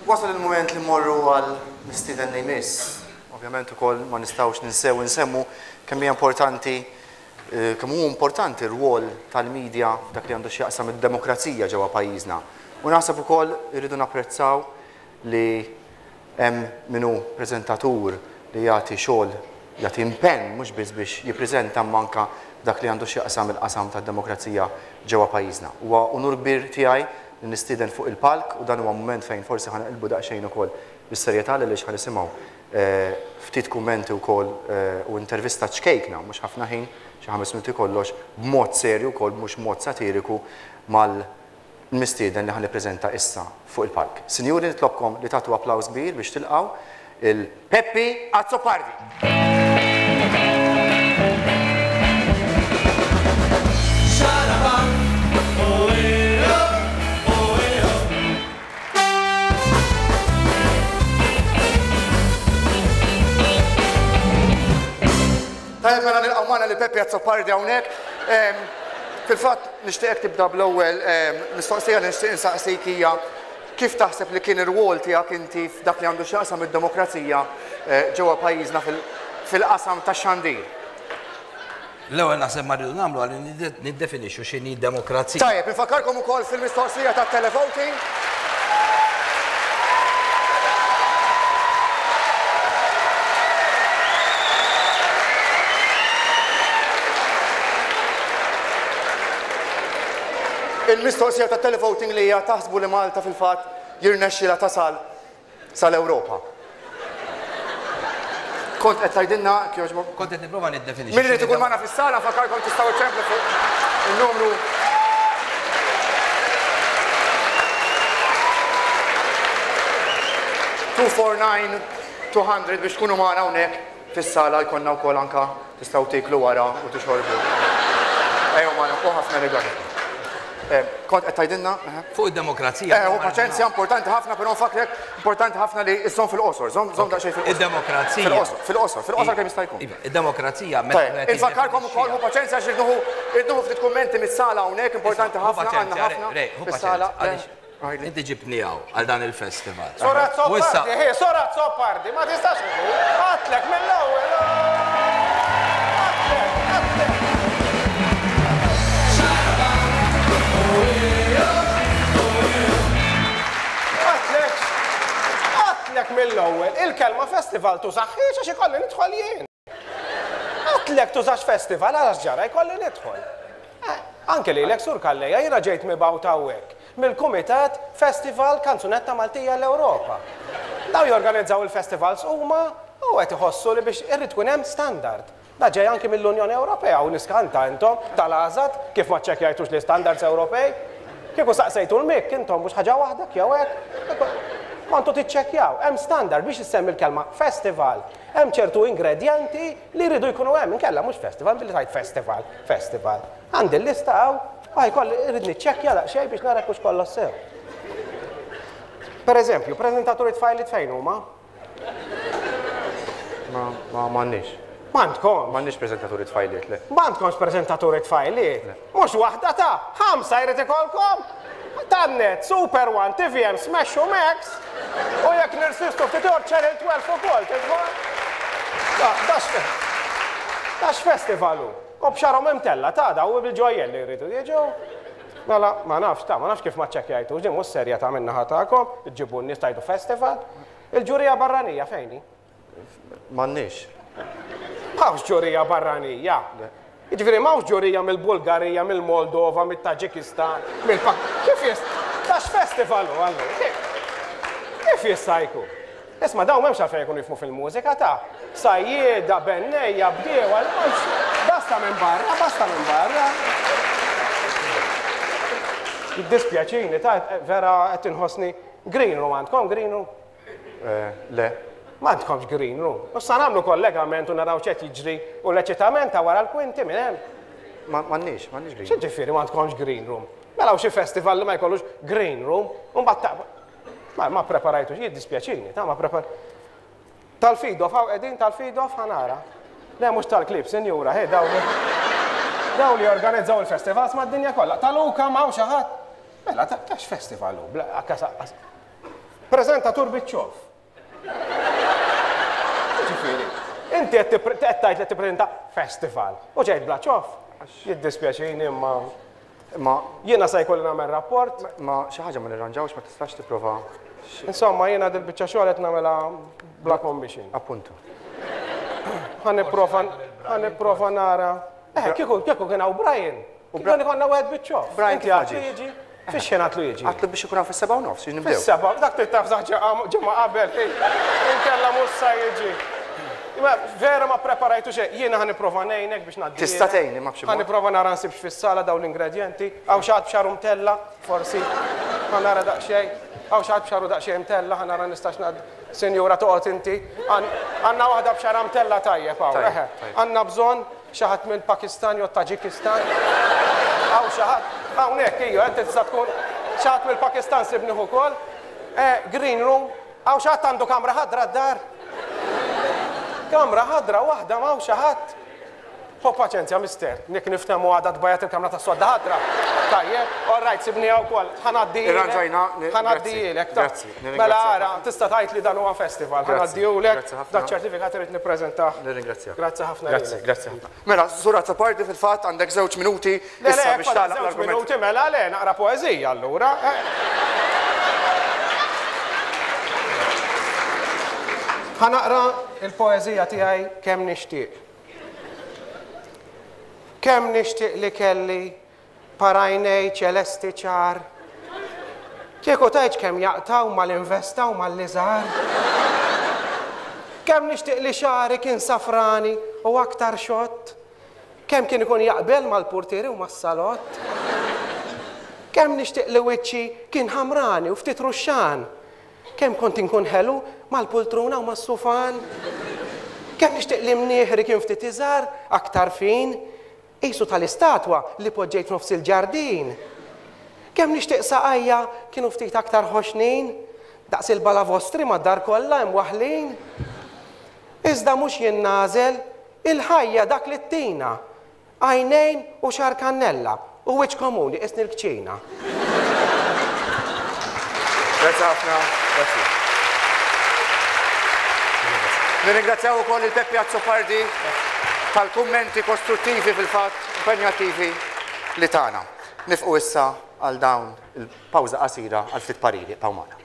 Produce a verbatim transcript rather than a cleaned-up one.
Wasal il-moment li mmorru għal mistieden li jmiss. Ovvjament ukoll ma nistgħux ninsew insemmu kemm hija importanti eh, kemm hu importanti r-rwol tal-medja f'dak li għandu x'jaqsam id-demokrazija ġewwa pajjiżna. U naħseb ukoll irridu napprezzaw li hemm min hu preżentatur li jagħti xogħol, jagħti impenn mhux biss biex jippreżenta imma anke dak li għandu x'jaqsam il-qasam tad-demokrazija ġewwa pajjiżna. Huwa unur kbir tiegħi li nistieden fuq il-palk u dan huwa mument fejn forsi ħa naqilbu daqsxejn ukoll bis-serjetà għaliex ħa nisimgħu ftit kummenti wkoll u intervista ċkejkna, mhux ħafna ħin, xi ħames minuti kollox, b'mod serju wkoll mhux mod satiriku mal-mistieden li ħa nippreżenta issa fuq il-palk. Sinjuri, nitlobkom li tagħtu applaws kbir biex tilqgħu il Peppi Azzopardi. Tajjeb, mela nilqgħu magħna lil Peppi Azzopardi hawnhekk. Fil-fatt nixtieqek tibda bl-ewwel mistoqsija li nixtieq insaqsik hija kif taħseb li kien ir-rwol tiegħek inti f'dak li għandu x'jaqsam id-demokrazija ġewwa pajjiżna fil-qasam tax-xandir? L-ewwel naħseb ma rridu nagħmlu għal niddefinixxu x'inhi demokrazija. Tajjeb, infakkarkom ukoll fil-mistoqsija tat-televoting. Il-mistoqsija ta' televoting li hija taħsbu li Malta fil-fatt jirnexxilha tasal sal-Ewropa. Kont qed tgħidilna kjoġbok? Kont qed nipprova niddefinixxi. Min irid ikun magħna fis-sala nfakkarkom tistgħu ċemplu fuq in-numru two four nine two hundred biex tkunu magħna hawnhekk fis-sala jkollna wkoll anka tistgħu tieklu wara u tixorbu. Ejjew magħna u ħafna rigali. Kont qed tgħidilna? Fuq id-demokrazija. Eh, u paċenzja importanti ħafna, però nfakrek importanti ħafna li żżomm fil-qosor, żomm żomm daqsxejn fil-qosor. Id-demokrazija. Fil-qosor, fil-qosor, fil-qosor kemm jista' jkun. Iva, id-demokrazija meta Tajjeb, infakkarkom ukoll hu paċenzja għax irduħu irduħu ftit kummenti mis-sala hawnhekk, importanti ħafna għandna ħafna fis-sala. Inti ġibtni hawn għal dan il-festival. Sora Azzopardi, hi, Sora Azzopardi, ma tistax għatlek mill-ewwel. Għatlek, għatlek. Għatlek, għatlek mill-ewwel, il-kelma festival tużaħħiex għax ikolli nidħol jien. Għatlek tużax festival għax ġara jkolli nidħol. Anke lilek Sur Calleja, jiena ġejt mibgħut hawnhekk mill-Kumitat Festival Kanzunetta Maltija l-Ewropa. Daw jorganizzaw il-festivals huma u qed iħossu li biex irrid tkun hemm standard. Da ġej anki mill-Unjoni Ewropea u niskanta intom tal-għażat kif ma ċċekkjajtux li standards Ewropej. Kieku saqsejtu l-mik intom mhux ħaġa waħda jew hekk. Kontu tiċċekkjaw, hemm standard biex issemmi l-kelma festival. Hemm ċertu ingredjenti li jridu jkunu hemm, inkella mhux festival, billi tgħid festival, festival. Għandi l-lista hawn, għaj kolli irrid niċċekkja daqsxejn biex nara hux kollox sew. Per eżempju, preżentaturi tfajliet fejn huma? Ma, ma m'għandniex. M'għandkomx? M'għandniex preżentaturi tfajliet, le. M'għandkomx preżentaturi tfajliet? Le. Mhux waħda ta' ħamsa jrid ikolkom? Tannet, Super One, T V M, Smash u Max. U jekk nirsistu ftit ieħor Channel twelve ukoll, tidħol? Dax festival hu. U b'xarhom imtella ta' daw bil-ġojjelli jridu jiġu. Mela, ma nafx ta' ma nafx kif ma ċċekkjajtux, din mhux serja ta' min-naħa tagħkom, iġġibu n-nies tajdu festival. Il-ġurija barranija fejn hi? M'għandniex. M'hawnx ġurija barranija. Le. Jiġifieri m'hawnx ġurija mill-Bulgarija, mill-Moldova, mit-Taġikistan, mill-Pak-, kif jist-, dax festival hu allura? Kif jista' jkun? Isma' dawn m'hemmx għalfejn jkunu jifhmu fil-mużika ta' sajjieda, bennejja, bdiewa, m'hemmx, basta minn barra, basta minn barra. Jiddispjaċini, ta' vera qed inħossni green room għandkom green room? Eh, le. M'għandkomx green room. U sa nagħmlu kollegament u naraw x'qed jiġri u l-eċitament ta' wara l-kwinti minn hemm. Ma-, m'għandniex, m'għandniex green room. X'jiġifieri m'għandkomx green room? Mela hawn xi festival li ma jkollux green room u mbagħad ta' Ma, ma preparajtux, jiddispjaċini, ta' ma prepar-, Tal-Fidof, hawn qegħdin tal-Fidof ħanara. Le mhux tal-klib, sinjura, hej, dawn li-, dawn li jorganizzaw il-festivals mad-dinja kollha. Tal-Uka m'hawn xi ħadd. Mela, ta' tax festival hu, bla, akkas, akkas. Preżentatur biċ-ċoff. Ġifieri, inti qed tgħid li tippreżenta festival u ġejt bla ċoff. Jiddispjaċini imma Ma jiena se jkolli nagħmel rapport. Ma xi ħaġa ma nirranġawx, ma tistax tipprova. Insomma, jiena dil-biċċa xogħol qed nagħmilha bla commission. Appuntu. Ħa nipprova ħa nipprova nara. Eh, kieku kieku kien hawn Brian. Kieku konna wieħed biċ-ċoff. Brian Inti kif għadlu ġie? jiġi? Fix xejn għadlu jiġi? Għatlu biex ikun hawn fis-sebgħa u nofs, nibdew. Fis-sebgħa, dak trid taf ġimgħa qabel, inkella mhux sa jiġi. Imma vera ma preparajtu xejn, jiena ħa nipprova ngħinek biex ngħaddi. Tista' tgħinni ma b'xi Ħa nipprova nara nsibx fis-sala dawn l-ingredjenti, hawn xi ħadd b'xagħru mtella, forsi. Ħa nara daqsxejn, hawn xi ħadd b'xagħru daqsxejn mtella, ħa nara nistax ngħaddi. Sinjura toqgħod inti. Għandna waħda b'xagħra mtella tajjeb hawn. Tajjeb, tajjeb. Għandna bżonn xi ħadd mill-Pakistan jew Taġikistan. Hawn xi ħadd, hawnhekk ejja, inti tista' tkun xi ħadd mill-Pakistan sibnih ukoll. Eh, green room, hawn xi ħadd għandu kamra ħadra d-dar. Kamra ħadra waħda ma xi ħadd. Ħu paċenzja, mister, nik niftehmu għada tbajjad il-kamra tas-sodda ħadra. Tajjeb, all right, sibni hawn ukoll, ħa ngħaddi. Irranġajna, Ħa ngħaddilek. Grazzi, Mela ara, tista' tgħid li dan huwa festival, Grazzi, ħa ngħaddihulek, grazzi ħafna. dak ċertifikat irid nippreżentah. Nirringrazzjak. Grazzi ħafna. Grazzi, lilek. grazzi ħafna. Mela, Sur Azzopardi fil-fatt għandek żewġ minuti Le, le, issa biex fadal tagħlaq żewġ l-argument. minuti, mela le, naqra poeżija allura. Eh. Ħa naqra il-poeżija tiegħi kemm nixtieq. Kemm nixtieq li kelli par għajnej ċelesti ċar. Kieku tgħidx kemm jaqtaw mal-investa u mal-liżar. Kemm nixtieq li xagħri kien safrani u aktar xott. Kemm kien ikun jaqbel mal-portieri u mas-salott. Kemm nixtieq li wiċċi kien ħamrani u ftit ruxxan. Kemm kont inkun ħelu mal-pultruna u mas-sufan. Kemm nixtieq li mnieħri kien ftit iżgħar, aktar fin, qisu tal-istatwa li poġġejt nofs il-ġardin. Kemm nixtieq saqajja kienu ftit aktar ħoxnin, daqs il-balavostri mad-dar kollha imwaħlin. Iżda mhux jien nagħżel, il-ħajja dak li ttina, għajnejn u xagħar kannella u wiċċ komuni qisni l-kċina. Grazzi ħafna, grazzi. Nirringrazzjaw ukoll il-Peppi Azzopardi tal-kummenti kostruttivi fil-fatt, impenjattivi li tagħna. Nifqu issa għal dawn il-pawża qasira għal ftit pariri. Ibqgħu magħna.